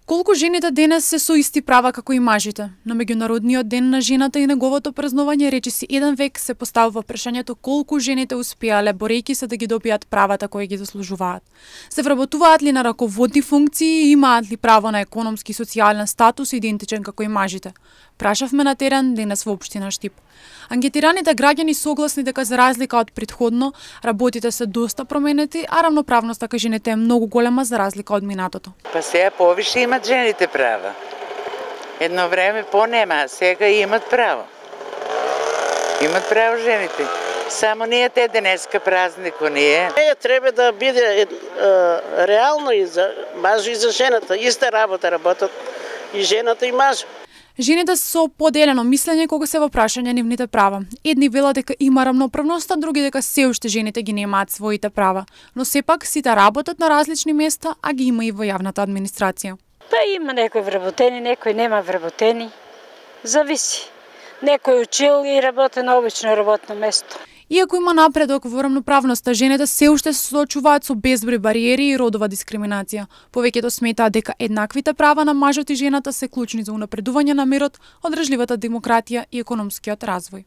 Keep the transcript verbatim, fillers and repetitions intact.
Колку жените денес се со исти права како и мажите? На меѓународниот ден на жената и неговото празнување речиси еден век се поставува прашањето колку жените успеале борејќи се да ги добијат правата кои ги заслужуваат. Се вработуваат ли на раководни функции и имаат ли право на економски и социјален статус идентичен како и мажите? Прашавме на терен денес во општина Штип. Анкетираните граѓани согласни дека за разлика од претходно, работите се доста променети, а равноправноста кај жените е многу голема за разлика од минатото. Па сега повише имат жените права. Едно време по-нема, а сега имат право. Имат право жените. Само ние те денеска празнико ние. Е, треба да биде е, реално и за мажу и за жената. Иста работа работат и жената и мажу. Жените со поделено мислење кога се во прашање нивните права. Едни велат дека има рамноправност, а други дека се уште жените ги немаат своите права. Но сепак сите работат на различни места, а ги има и во јавната администрација. Па има некои вработени, некои нема вработени. Зависи. Некој учил и работи на обично работно место. Иако има напредок во рамноправноста, жените се уште се соочуваат со безброј бариери и родова дискриминација. Повеќето сметаат дека еднаквите права на мажот и жената се клучни за унапредување на мирот, одржливата демократија и економскиот развој.